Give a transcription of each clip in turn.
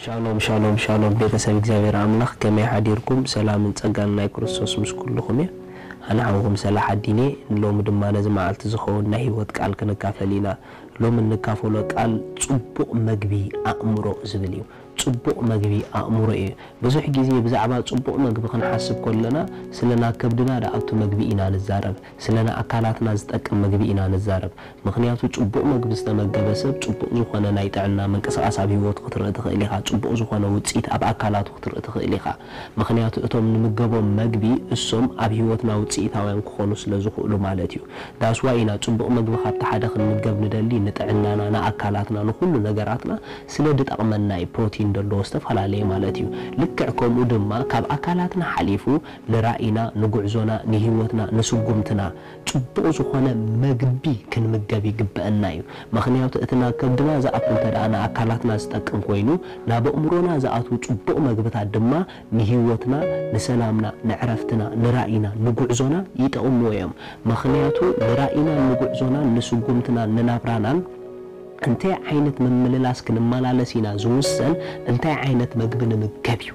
ሻሎም ሻሎም ሻሎም፣ ቤተሰብ እግዚኣብሔር ኣምላኽ፣ ከመይ ሓዲርኩም? ሰላምን ጸጋን ናይ ክርስቶስ ምስ ኩልኹም እየ። ኣነ ሓውኹም ሰላሕ ኣዲኔ። ሎሚ ድማ ነዚ መዓልቲ ዝኸውን ናይ ህይወት ቃል ክንካፈል ኢና። ሎሚ እንካፈሎ ቃል ጽቡቕ መግቢ ኣእምሮ ዝብል እዩ። ጽቡቕ መግቢ ኣእምሮ እዩ። ብዙሕ ግዜ ብዛዕባ ጽቡቕ መግቢ ክንሓስብ ከለና፣ ስለ ናብ ከብድና ዝኣቱ መግቢ ኢና ንዛረብ። ስለ ንኣካላትና ዝጠቅም መግቢ ኢና ንዛረብ። ምኽንያቱ ጽቡቕ መግቢ ዝተመገበ ሰብ ጽቡቕ ዝኾነ ናይ ጥዕና ምንቅስቓስ ኣብ ህይወቱ ክትርኢ ትኽእል ኢኻ። ጽቡቕ ዝኾነ ውጽኢት ኣብ ኣካላቱ ክትርኢ ትኽእል ኢኻ። ምኽንያቱ እቶም ንምገቦም መግቢ እሶም ኣብ ህይወትና ውጽኢታውያን ክኾኑ ስለ ዝኽእሉ ማለት እዩ። ዳስዋ ኢና ጽቡቕ መግቢ ካብቲ ሓደ ክንምገብ ንደሊ፣ ንጥዕናና፣ ንኣካላትና፣ ንኹሉ ነገራትና ስለ ድጠቕመና እዩ። ፕሮቲን ዘለዎ ዝተፈላለየ ማለት እዩ። ልክዕ ከምኡ ድማ ካብ ኣካላትና ሓሊፉ ንራእይና፣ ንጉዕዞና፣ ንህይወትና፣ ንስጉምትና ጽቡቕ ዝኾነ መግቢ ክንምገብ ይግበአና እዩ። ምኽንያቱ እቲ ናብ ከብድና ዝኣቱ እንተ ደኣ ንኣካላትና ዝጠቅም ኮይኑ፣ ናብ ኣእምሮና ዝኣትዉ ጽቡቕ መግብታት ድማ ንህይወትና፣ ንሰላምና፣ ንዕረፍትና፣ ንራእይና፣ ንጉዕዞና ይጠቕምዎ እዮም። ምኽንያቱ ንራእይናን ንጉዕዞናን ንስጉምትናን ንናብራናን እንታይ ዓይነት ምምልላስ ክንመላለስ ኢና ዝውሰን እንታይ ዓይነት መግቢ ንምገብ እዩ።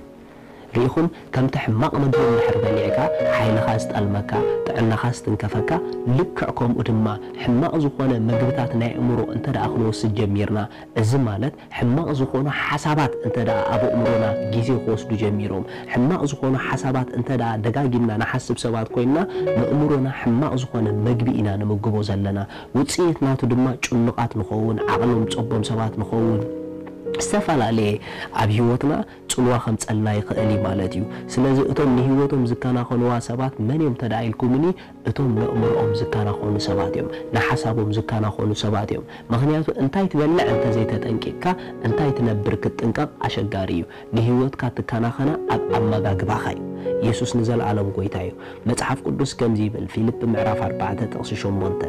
ርኢኹም፣ ከምቲ ሕማቕ መግቢ እንድሕር በሊዕካ ሓይልኻ ዝጠልመካ፣ ጥዕናኻ ዝትንከፈካ፣ ልክዕ ከምኡ ድማ ሕማቕ ዝኾነ መግብታት ናይ ኣእምሮ እንተ ደኣ ክንወስድ ጀሚርና፣ እዚ ማለት ሕማቕ ዝኾኑ ሓሳባት እንተ ደኣ ኣብ ኣእምሮና ግዜ ክወስዱ ጀሚሮም፣ ሕማቕ ዝኾኑ ሓሳባት እንተ ደኣ ደጋጊምና ንሓስብ ሰባት ኮይንና፣ ንኣእምሮና ሕማቕ ዝኾነ መግቢ ኢና ንምግቦ ዘለና። ውጽኢት ናቱ ድማ ጭኑቓት ንኸውን፣ ዓቕሎም ጸቦም ሰባት ንኸውን፣ ዝተፈላለየ ኣብ ህይወትና ጽልዋ ከምጸልና ይኽእል እዩ ማለት እዩ። ስለዚ እቶም ንህይወቶም ዝከናኸንዋ ሰባት መን እዮም ተዳ ኢልኩምኒ፣ እቶም ነእምሮኦም ዝከናኸኑ ሰባት እዮም፣ ንሓሳቦም ዝከናኸኑ ሰባት እዮም። ምኽንያቱ እንታይ ትበልዕ እንተዘይተጠንቂቕካ እንታይ ትነብር ክትጥንቀቕ ኣሸጋሪ እዩ። ንህይወትካ ትከናኸና ኣብ ኣመጋግባኻ እዩ። ኢየሱስ ንዘለኣለም ጎይታ እዩ። መጽሓፍ ቅዱስ ከምዚ ይብል፣ ፊልፕ ምዕራፍ ኣርባዕተ ጥቕሲ ሸሞንተ፣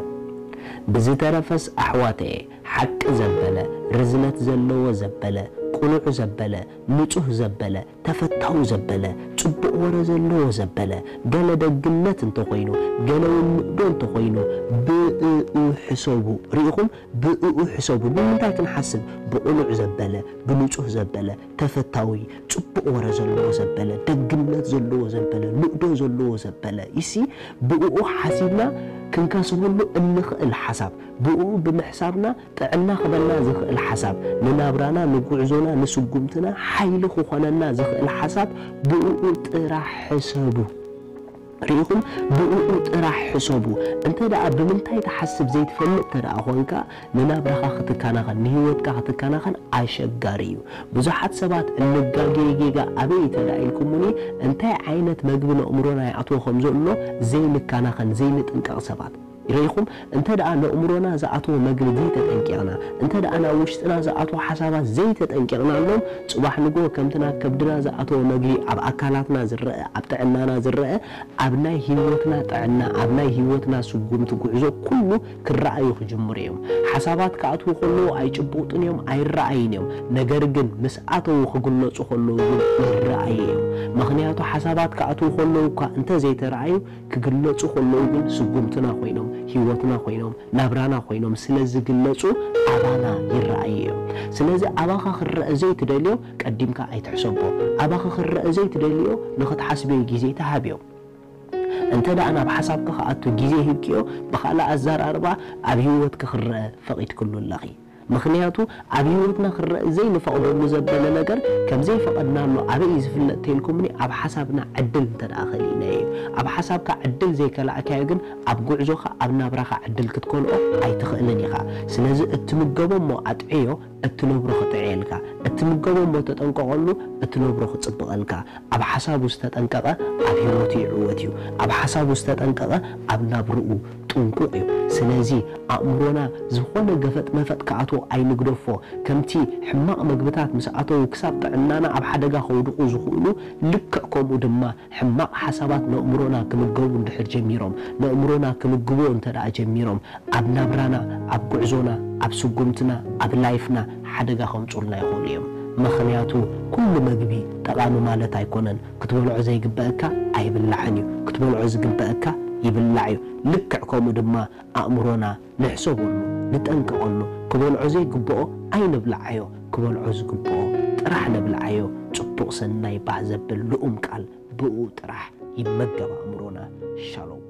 ብዝተረፈስ ኣሕዋተየ፣ ሓቂ ዘበለ፣ ርዝነት ዘለዎ ዘበለ፣ ቅኑዕ ዘበለ፣ ንጹህ ዘበለ፣ ተፈታዊ ዘበለ፣ ጽቡቕ ወረ ዘለዎ ዘበለ፣ ገለ ደግነት እንተኾይኑ፣ ገለ እውን ንእዶ እንተኾይኑ፣ ብእኡ ሕሰቡ። ርኢኹም? ብእኡ ሕሰቡ። ንምንታይ ክንሓስብ? ብቕኑዕ ዘበለ፣ ብንጹህ ዘበለ፣ ተፈታዊ፣ ጽቡቕ ወረ ዘለዎ ዘበለ፣ ደግነት ዘለዎ ዘበለ፣ ንእዶ ዘለዎ ዘበለ። ይሲ ብእኡ ሓሲብና ክንከስበሉ እንኽእል ሓሳብ፣ ብእኡ ብምሕሳብና ጥዕና ክበና ዝኽእል ሓሳብ፣ ንናብራና፣ ንጉዕዞና፣ ንስጉምትና ሓይሊ ክኾነና ዝኽእል ሓሳብ ብእኡ ጥራሕ ሕሰቡ። ርኢኹም? ብእኡ ጥራሕ ሕሰቡ። እንተ ደኣ ብምንታይ ትሓስብ ዘይትፈልጥ እንተ ደኣ ኾንካ፣ ንናብራኻ ክትከናኸን፣ ንህይወትካ ክትከናኸን ኣሸጋሪ እዩ። ብዙሓት ሰባት እንጋጌ ጌጋ ኣበይ እንተ ደኣ ኢልኩምኒ፣ እንታይ ዓይነት መግቢ ነእምሮና ይኣትዎ ከም ዘሎ ዘይንከናኸን፣ ዘይንጥንቀቕ ሰባት። ርኢኹም? እንተ ደኣ ነእምሮና ዝኣተወ መግቢ ዘይተጠንቂቕና፣ እንተ ደኣ ናብ ውሽጥና ዝኣተወ ሓሳባት ዘይተጠንቂቕናሎም፣ ጽባሕ ንግሆ ከምቲ ናብ ከብድና ዝኣተወ መግቢ ኣብ ኣካላትና ዝረአ፣ ኣብ ጥዕናና ዝረአ፣ ኣብ ናይ ህይወትና ጥዕና፣ ኣብ ናይ ህይወትና ስጉምቲ ጉዕዞ ኩሉ ክረኣዩ ክጅምሩ እዮም። ሓሳባት ክኣትዉ ከለዉ ኣይጭቡጥን እዮም፣ ኣይረኣይን እዮም። ነገር ግን ምስ ኣተዉ ክግለጹ ከለዉ ግን ይረኣዩ እዮም። ምኽንያቱ ሓሳባት ክኣትዉ ከለዉ እኳ እንተ ዘይተረኣዩ፣ ክግለጹ ከለዉ ግን ስጉምትና ኮይኖም፣ ህይወትና ኮይኖም፣ ናብራና ኮይኖም ስለ ዝግለጹ ኣባና ይረኣዩ እዮም። ስለዚ ኣባኻ ክረአ ዘይትደልዮ ቀዲምካ ኣይትሕሰቦ። ኣባኺ ክረአ ዘይትደልዮ ንኽትሓስብዮ ግዜ ተሃብዮ። እንተ ደኣ ናብ ሓሳብኪ ክኣቱ ግዜ ሂብክዮ፣ ብኻልእ ኣዘራርባ ኣብ ህይወትኪ ክረአ ፈቒድክሉ ኣለኺ። ምኽንያቱ ኣብ ህይወትና ክረአ ዘይንፈቕደሉ ዘበለ ነገር ከም ዘይፈቐድናሉ ኣበይ እዩ ዝፍለጥ ተልኩምኒ? ኣብ ሓሳብና ዕድል እንተ ደኣ ከሊእናዮ እዩ። ኣብ ሓሳብካ ዕድል ዘይከላእካዮ ግን ኣብ ጉዕዞኻ፣ ኣብ ናብራኻ ዕድል ክትከልኦ ኣይትኽእልን ኢኻ። ስለዚ እትምገቦ እሞ ኣጥዕዮ፣ እትነብሮ ክጥዕየልካ። እትምገቦ እሞ ተጠንቀቐሉ፣ እትነብሮ ክጽብቐልካ። ኣብ ሓሳቡ ዝተጠንቀቐ ኣብ ህይወቱ ይዕወት እዩ። ኣብ ሓሳቡ ዝተጠንቀቐ ኣብ ናብርኡ ጥንቁቕ እዩ። ስለዚ ኣእምሮና ዝኾነ ገፈጥ መፈጥ ክኣትዎ ኣይንግደፎ። ከምቲ ሕማቕ መግብታት ምስ ኣተዉ ክሳብ ጥዕናና ኣብ ሓደጋ ከውድቑ ዝኽእሉ፣ ልክዕ ከምኡ ድማ ሕማቕ ሓሳባት ነእምሮና ክምገቡ እንድሕር ጀሚሮም፣ ነእምሮና ክምግብዎ እንተ ደኣ ጀሚሮም፣ ኣብ ናብራና፣ ኣብ ጉዕዞና፣ ኣብ ስጉምትና፣ ኣብ ላይፍና ሓደጋ ከምጹልና ይኽእሉ እዮም። ምኽንያቱ ኩሉ መግቢ ጠቓሚ ማለት ኣይኮነን። ክትበልዖ ዘይግበአካ ኣይብላዕን እዩ። ክትበልዖ ዝግበአካ ይብላዕ እዩ። ልክዕ ከምኡ ድማ ኣእምሮና ንሕሰበሉ፣ ንጠንቀቐሉ። ክበልዖ ዘይግብኦ ኣይንብልዓዮ። ክበልዖ ዝግብኦ ጥራሕ ነብልዓዮ። ጽቡቕ ሰናይ ባህ ዘብል ልኡም ቃል ብኡ ጥራሕ ይመገብ ኣእምሮና። ሻሎም።